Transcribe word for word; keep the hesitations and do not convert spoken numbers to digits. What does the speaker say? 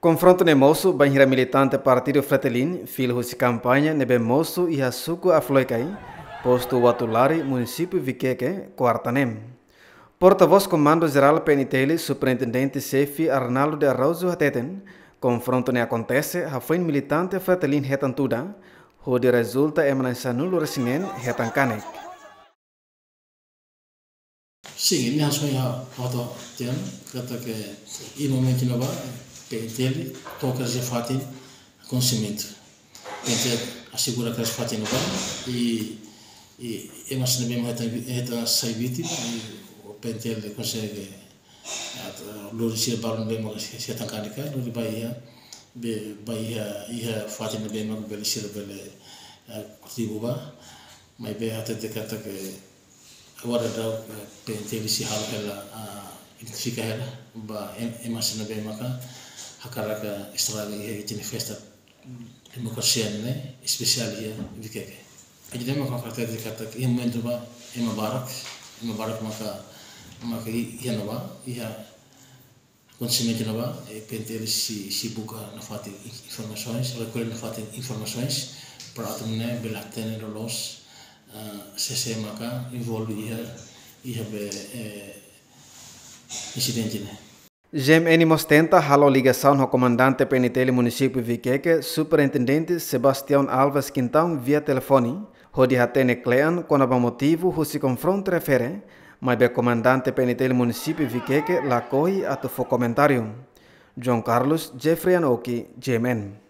Konfrontu ne'e mosu bainhira militante Partidu Fretilin fila husi kampaña ne'ebé mosu iha suku Afloikai, postu Watulari, munisípiu Vikeke, kuarta ne'e. Portavós Komandu Jerál P N T L, Superintendente Xefe Arnaldo de Araújo hateten, konfrontu ne'e akontese hafoin militante Fretilin hetan tuda, hodi rezulta ema na'in-sanulu-resin-neen hetan kanek. Sin, imi hanesan ohin ha'u hateten katak iha momentu ne'ebá P N T L to'o iha fatin akontesimentu. P N T L asegura iha fatin ne'ebá i, i ema sira ne'ebé mak hetan, hetan sai vítima i P N T L konsege, ah, lori sira balun ne'ebé mak sira hetan kanek, lori ba iha, be, ba iha, iha fatin ne'ebé mak bele sira bele, ah, kontribui ba. Maibé hatete katak agora daudaun, eh, P N T L sei halo hela, ah, identifika hela ba em-, ema sira ne'ebé maka hakarak estraga iha ita-nia festa demokrasia ne'e, espesiál iha Vikeke. Jadi ema maka hatete katak iha momentu ne'ebá ema barak, ema barak maka, maka i-, iha ne'ebá, iha akontesimentu ne'ebá, eh, P N T L sei, sei buka nafatin in-, informasoens, rekolla nafatin informasoens, para atu nune'e bele hatene loloos, ah, sé-sé maka envolve iha, iha be, eh, insidente ne'e. G M N mós tenta halo ligasaun ho Komandante P N T L Munisípiu Vikeke, Superintendente Sebastião Alves Quintão, via telefone, hodi hatene kle'an kona-ba motivu husi konfrontu refere, maibé Komandante P N T L Munisípiu Vikeke lakohi atu fó komentáriu. João Carlos, Jeffrey Anoki, G M N.